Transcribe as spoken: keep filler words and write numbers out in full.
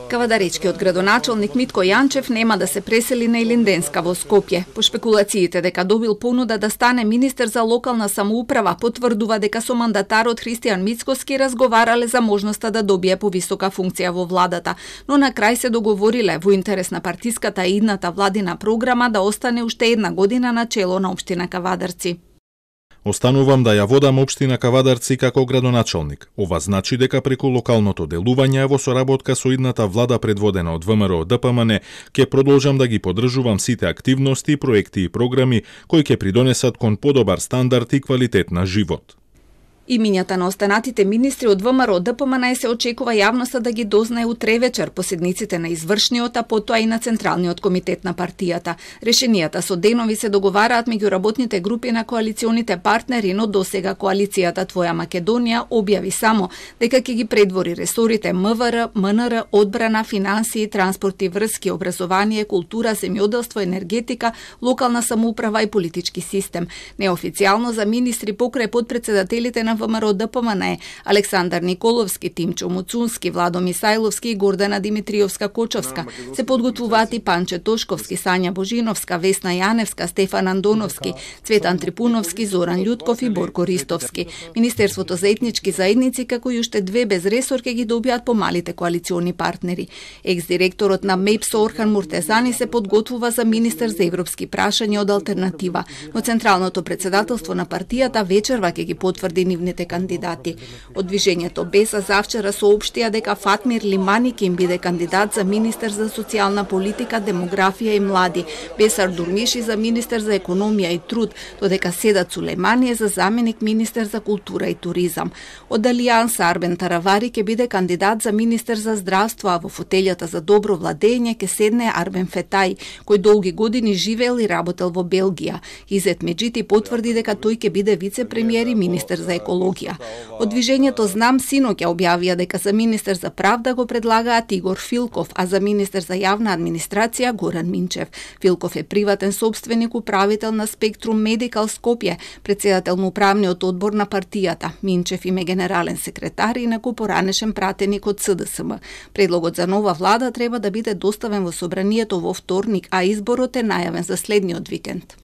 Кавадаречкиот градоначалник Митко Јанчев нема да се пресели на Илинденска во Скопје. По шпекулациите дека добил понуда да стане министер за локална самоуправа, потврдува дека со мандатарот Христијан Мицкоски разговарале за можноста да добие повисока функција во владата, но на крај се договориле во интерес на партиската и идната владина програма да остане уште една година на чело на општина Кавадарци. Останувам да ја водам општина Кавадарци како градоначалник. Ова значи дека преку локалното делување во соработка со идната влада предводена од ВМРО Д П М Н ќе продолжам да ги поддржувам сите активности, проекти и програми кои ќе придонесат кон подобар стандард и квалитет на живот. Имињата на останатите министри од В М R Д П М Н се очекува јавноста да ги дознае утре вечер по седниците на извршниот, а потоа и на Централниот комитет на партијата. Решенијата со денови се договараат меѓу работните групи на коалиционите партнери, но досега коалицијата Твоја Македонија објави само дека ќе ги предвори ресорите М В Р, М Н Р, одбрана, финансии, транспорт и врски, образование, култура, земјоделство, енергетика, локална самоуправа и политички систем. Неофицијално за министри покрај подпредседателите на В М R Д П М Н Александар Николовски, Тимчо Муцунски, Владо Мисајловски и Гордана Димитриовска-Кочовска. Се подготвуваат и Панче Тошковски, Сања Божиновска, Весна Јаневска, Стефан Андоновски, Цветан Трипуновски, Зоран Љутков и Борко Ристовски. Министерството за етнички заедници како и уште две без ресор ќе ги добијат помалите коалициони партнери. Екс-директорот на М E P С Орхан Муртезани се подготвува за министер за европски прашања од Алтернатива, но Централното председателство на партијата вечерва ќе ги потврди нивните кандидати. Од движењето Беса завчера соопштија дека Фатмир Лимани ќе им биде кандидат за министер за социјална политика, демографија и млади, Бесар Дурмиши за министер за економија и труд, додека Седат Сулеймани е за заменик министер за култура и туризам. Од Алијанса Арбен Таравари ќе биде кандидат за министер за здравство, а во фотелјата за добро владење ќе седне Арбен Фетај, кој долги години живеел и работел во Белгија. Изет Меджити потврди дека тој ќе биде вице-премиер и министер за екологија. Од движењето Знам синоќа објавија дека за министер за правда го предлагаат Игор Филков, а за министер за јавна администрација Горан Минчев. Филков е приватен собственик, управител на Спектрум Медикал Скопје, председател на управниот одбор на партијата. Минчев им е генерален секретар и некој поранешен пратеник од С Д С М. Предлогот за нова влада треба да биде доставен во собранието во вторник, а изборот е најавен за следниот викенд.